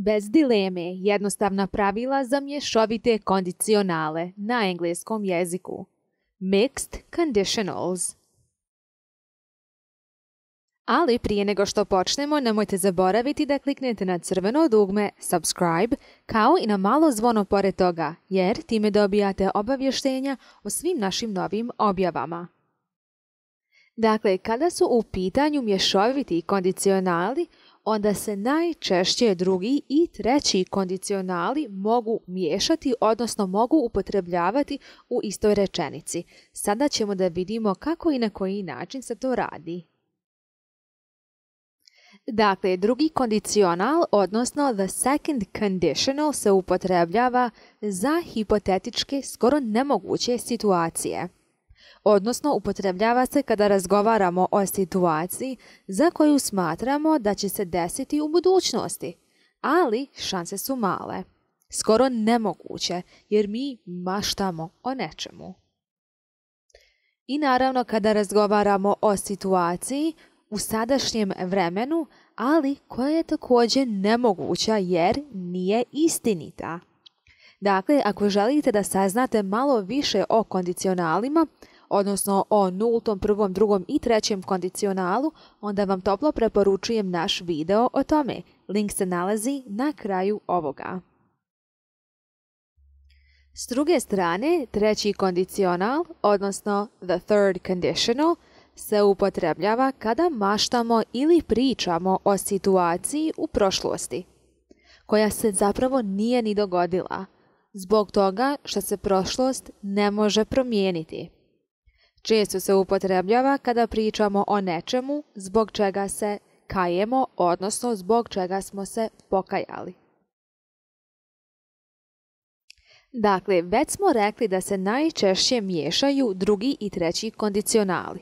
Bez dileme, jednostavna pravila za mješovite kondicionale na engleskom jeziku. Mixed conditionals. Ali prije nego što počnemo, nemojte zaboraviti da kliknete na crveno dugme subscribe, kao i na malo zvono pored toga, jer time dobijate obavještenja o svim našim novim objavama. Dakle, kada su u pitanju mješoviti kondicionali, onda se najčešće drugi i treći kondicionali mogu miješati, odnosno mogu upotrebljavati u istoj rečenici. Sada ćemo da vidimo kako i na koji način se to radi. Dakle, drugi kondicional, odnosno the second conditional, se upotrebljava za hipotetičke, skoro nemoguće situacije. Odnosno, upotrebljava se kada razgovaramo o situaciji za koju smatramo da će se desiti u budućnosti, ali šanse su male, skoro nemoguće, jer mi maštamo o nečemu. I naravno kada razgovaramo o situaciji u sadašnjem vremenu, ali koja je također nemoguća jer nije istinita. Dakle, ako želite da saznate malo više o kondicionalima, odnosno o nultom, prvom, drugom i trećem kondicionalu, onda vam toplo preporučujem naš video o tome. Link se nalazi na kraju ovoga. S druge strane, treći kondicional, odnosno the third conditional, se upotrebljava kada maštamo ili pričamo o situaciji u prošlosti, koja se zapravo nije ni dogodila, zbog toga što se prošlost ne može promijeniti. Često se upotrebljava kada pričamo o nečemu zbog čega se kajemo, odnosno zbog čega smo se pokajali. Dakle, već smo rekli da se najčešće miješaju drugi i treći kondicionali.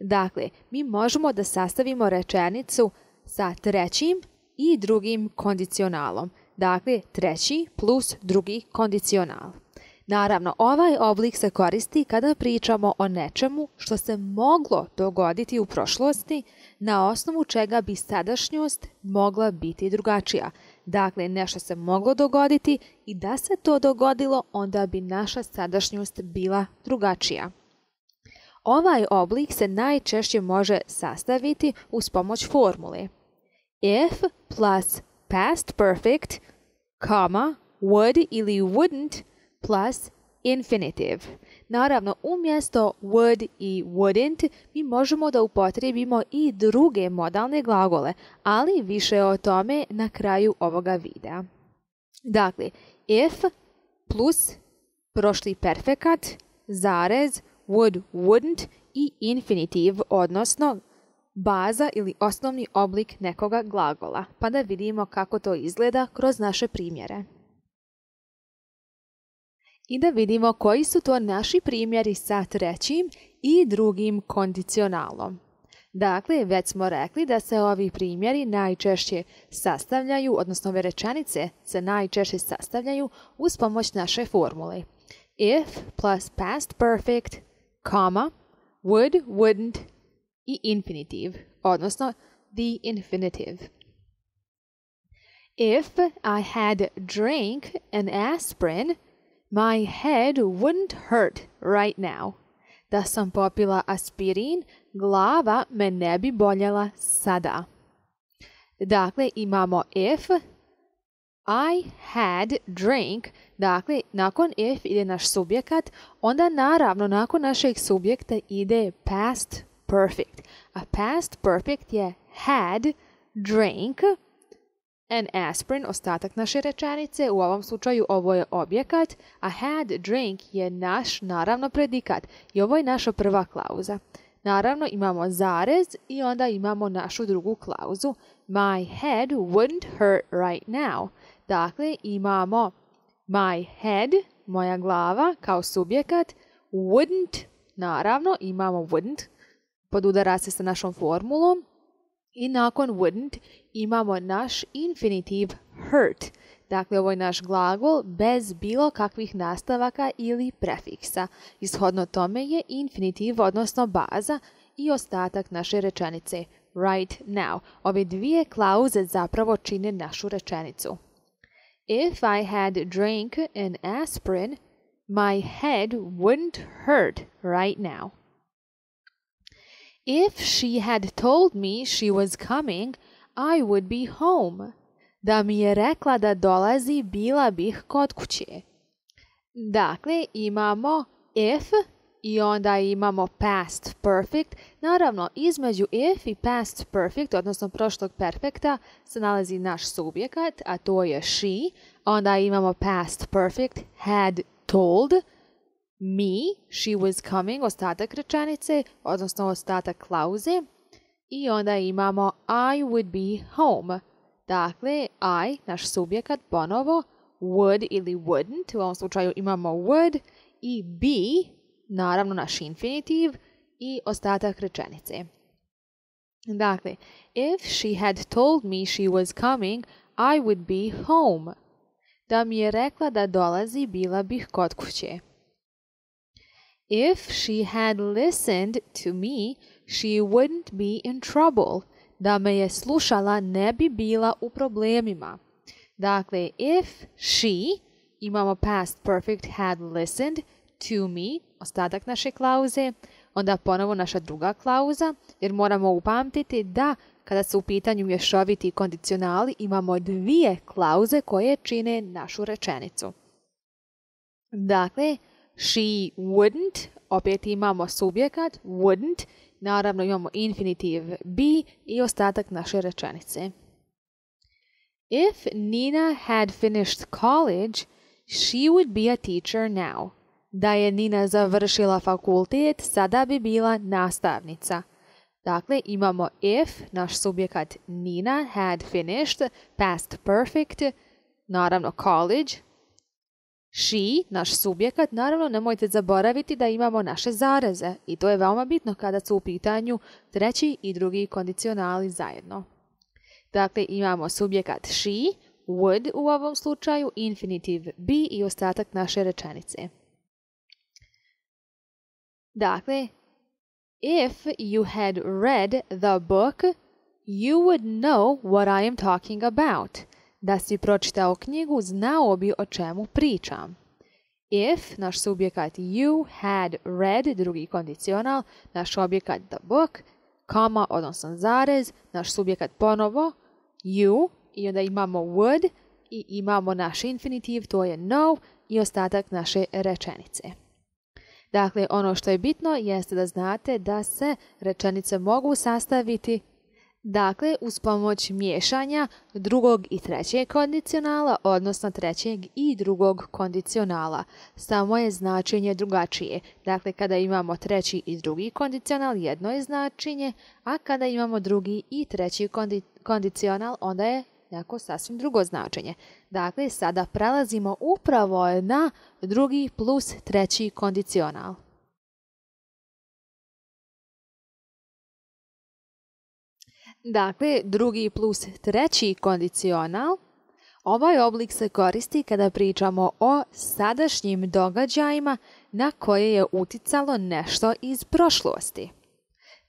Dakle, mi možemo da sastavimo rečenicu sa trećim i drugim kondicionalom. Dakle, treći plus drugi kondicional. Naravno, ovaj oblik se koristi kada pričamo o nečemu što se moglo dogoditi u prošlosti, na osnovu čega bi sadašnjost mogla biti drugačija. Dakle, nešto se moglo dogoditi i da se to dogodilo, onda bi naša sadašnjost bila drugačija. Ovaj oblik se najčešće može sastaviti uz pomoć formule. If plus past perfect, would ili wouldn't plus infinitive. Naravno, umjesto would i wouldn't mi možemo da upotrijebimo i druge modalne glagole, ali više o tome na kraju ovoga videa. Dakle, if plus prošli perfekat, zarez, would, wouldn't i infinitive, odnosno baza ili osnovni oblik nekoga glagola. Pa da vidimo kako to izgleda kroz naše primjere. I da vidimo koji su to naši primjeri sa trećim i drugim kondicionalom. Dakle, već smo rekli da se ovi primjeri najčešće sastavljaju, odnosno ove rečenice se najčešće sastavljaju uz pomoć naše formule. If plus past perfect, would, wouldn't i infinitive, odnosno the infinitive. If I had drank an aspirin, my head wouldn't hurt right now. Da sam popila aspirin, glava me ne bi boljela sada. Dakle, imamo if I had drank, dakle, nakon if ide naš subjekat, onda naravno nakon našeg subjekta ide past perfect. A past perfect je had drank an aspirin, ostatak naše rečenice, u ovom slučaju ovo je objekat, a had drank je naš, naravno, predikat i ovo je naša prva klauza. Naravno, imamo zarez i onda imamo našu drugu klauzu. My head wouldn't hurt right now. Dakle, imamo my head, moja glava, kao subjekat, wouldn't, naravno, imamo wouldn't, podudara se sa našom formulom, i nakon wouldn't imamo naš infinitive hurt. Dakle, ovo je naš glagol bez bilo kakvih nastavaka ili prefiksa. Ishodno tome je infinitiv, odnosno baza, i ostatak naše rečenice. right now. Ove dvije klauze zapravo čine našu rečenicu. If I had drank an aspirin, my head wouldn't hurt right now. If she had told me she was coming, I would be home. Da mi je rekla da dolazi, bila bih kod kuće. Dakle, imamo if i onda imamo past perfect. Naravno, između if i past perfect, odnosno prošlog perfekta, se nalazi naš subjekat, a to je she. Onda imamo past perfect, had told me she was coming, ostatak rečenice, odnosno ostatak klauze. I onda imamo I would be home. Dakle, I, naš subjekat, ponovo, would ili wouldn't, u ovom slučaju imamo would, i be, naravno naš infinitiv, i ostatak rečenice. Dakle, if she had told me she was coming, I would be home. Da mi je rekla da dolazi, bila bih kod kuće. If she had listened to me, she wouldn't be in trouble. Da me je slušala, ne bi bila u problemima. Dakle, if she, imamo past perfect had listened to me, ostatak naše klauze, onda ponovo naša druga klauza, jer moramo upamtiti da kada su u pitanju mješoviti kondicionali imamo dvije klauze koje čine našu rečenicu. Dakle, she wouldn't, opet imamo subjekat, wouldn't, naravno imamo infinitiv be i ostatak naše rečenice. If Nina had finished college, she would be a teacher now. Da je Nina završila fakultet, sada bi bila nastavnica. Dakle, imamo if, naš subjekat Nina had finished, past perfect, naravno college. She, naš subjekat, naravno nemojte zaboraviti da imamo naše zareze i to je veoma bitno kada su u pitanju treći i drugi kondicionali zajedno. Dakle, imamo subjekat she, would u ovom slučaju, infinitiv be i ostatak naše rečenice. Dakle, if you had read the book, you would know what I am talking about. Da si pročitao knjigu, znao bi o čemu pričam. If, naš subjekat you had read, drugi kondicional, naš objekat the book, koma, odnosno zarez, naš subjekat ponovo, you, i onda imamo would, i imamo naš infinitiv, to je know, i ostatak naše rečenice. Dakle, ono što je bitno jeste da znate da se rečenice mogu sastaviti uz pomoć miješanja drugog i trećeg kondicionala, odnosno trećeg i drugog kondicionala. Samo je značenje drugačije. Dakle, kada imamo treći i drugi kondicional, jedno je značenje, a kada imamo drugi i treći kondicional, onda je neko sasvim drugo značenje. Dakle, sada prelazimo upravo na drugi plus treći kondicional. Dakle, drugi plus treći kondicional. Ovaj oblik se koristi kada pričamo o sadašnjim događajima na koje je uticalo nešto iz prošlosti.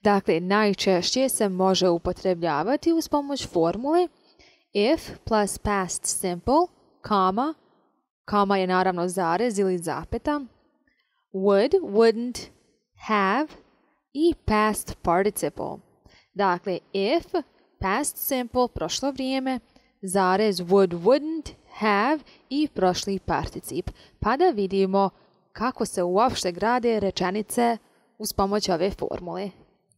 Dakle, najčešće se može upotrebljavati uz pomoć formule if plus past simple, koma je naravno zarez ili zapeta, would, wouldn't, have i past participle. Dakle, if, past simple, prošlo vrijeme, zarez would, wouldn't, have i prošli particip. Pa da vidimo kako se uopšte grade rečenice uz pomoć ove formule.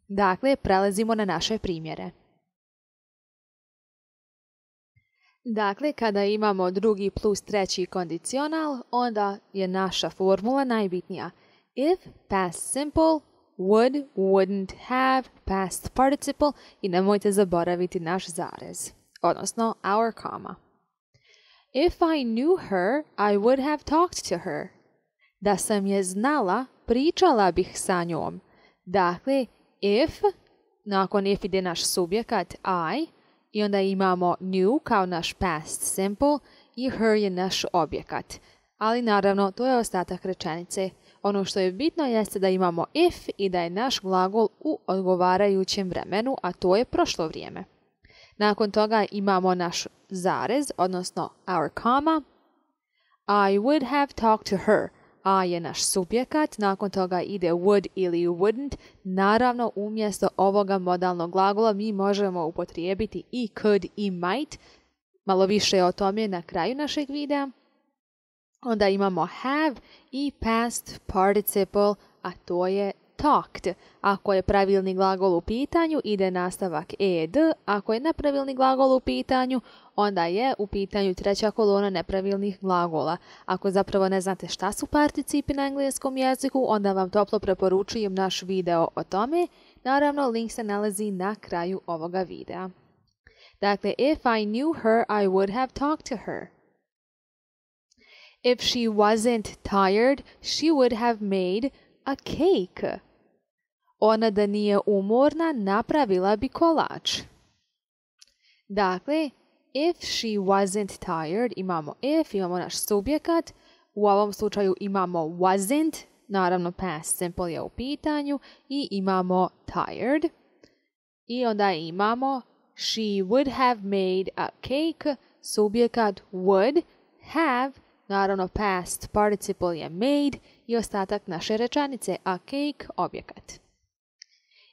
Dakle, prelazimo na naše primjere. Dakle, kada imamo drugi plus treći kondicional, onda je naša formula najbitnija. If, past simple, would, wouldn't, have, past participle i nemojte zaboraviti naš zarez, odnosno our comma. If I knew her, I would have talked to her. Da sam je znala, pričala bih sa njom. Dakle, if, nakon if ide naš subjekat i onda imamo knew kao naš past simple i her je naš objekat. Ali naravno, to je ostatak rečenice. ono što je bitno jeste da imamo if i da je naš glagol u odgovarajućem vremenu, a to je prošlo vrijeme. Nakon toga imamo naš zarez, odnosno our comma. I would have talked to her. A je naš subjekat, nakon toga ide would ili wouldn't. Naravno, umjesto ovoga modalnog glagola mi možemo upotrijebiti i could i might. Malo više o tome na kraju našeg videa. Onda imamo have i past participle, a to je talked. Ako je pravilni glagol u pitanju, ide nastavak ed. Ako je nepravilni glagol u pitanju, onda je u pitanju treća kolona nepravilnih glagola. Ako zapravo ne znate šta su participi na engleskom jeziku, onda vam toplo preporučujem naš video o tome. Naravno, link se nalazi na kraju ovoga videa. Dakle, if I knew her, I would have talked to her. If she wasn't tired, she would have made a cake. Ona da nije umorna, napravila bi kolač. Dakle, if she wasn't tired, imamo if, imamo naš subjekat. U ovom slučaju imamo wasn't, naravno past simple je u pitanju, i imamo tired. I onda imamo she would have made a cake, subjekat would have, naravno past participle je made i ostatak naše rečenice, a cake objekat.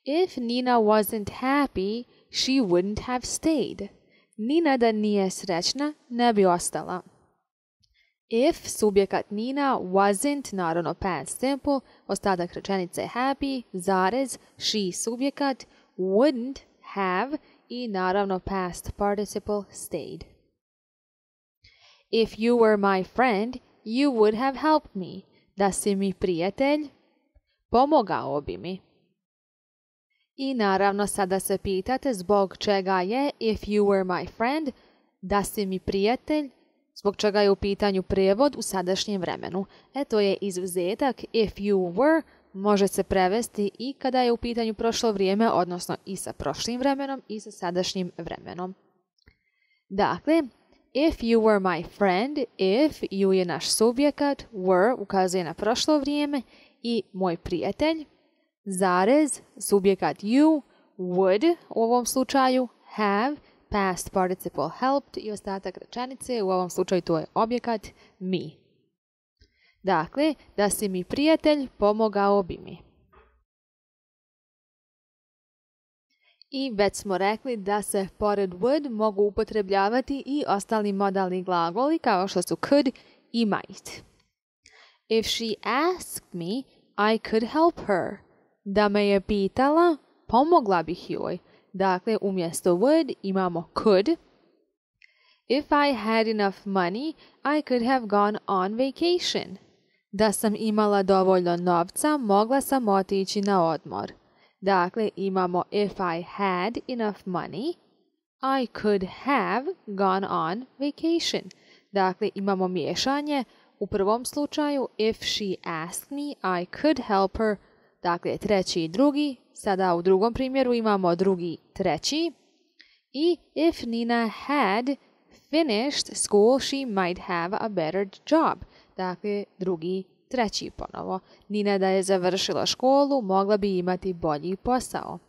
If Nina wasn't happy, she wouldn't have stayed. Nina da nije srećna, ne bi ostala. If subjekat Nina wasn't, naravno past simple, ostatak rečenice happy, zarez, she subjekat, wouldn't have i naravno past participle stayed. If you were my friend, you would have helped me. Da si mi prijatelj, pomogao bi mi. I naravno sada se pitate zbog čega je if you were my friend, da si mi prijatelj, zbog čega je u pitanju prijevod u sadašnjem vremenu. To je izuzetak if you were, može se prevesti i kada je u pitanju prošlo vrijeme, odnosno i sa prošlim vremenom i sa sadašnjim vremenom. Dakle, if you were my friend, if you je naš subjekat, were ukazuje na prošlo vrijeme i moj prijatelj, zarez, subjekat you, would u ovom slučaju, have, past participle helped i ostatak rečenice, u ovom slučaju to je objekat me. Dakle, da si mi prijatelj, pomogao bi mi. I već smo rekli da se pored would mogu upotrebljavati i ostali modalni glagoli kao što su could i might. If she asked me, I could help her. Da me je pitala, pomogla bih joj. Dakle, umjesto would imamo could. If I had enough money, I could have gone on vacation. Da sam imala dovoljno novca, mogla sam otići na odmor. Dakle, imamo if I had enough money, I could have gone on vacation. Dakle, imamo miješanje. U prvom slučaju, if she asked me, I could help her. Dakle, treći i drugi. Sada u drugom primjeru imamo drugi, treći. I if Nina had finished school, she might have a better job. Dakle, drugi, treći ponovo. Nina da je završila školu, mogla bi imati bolji posao.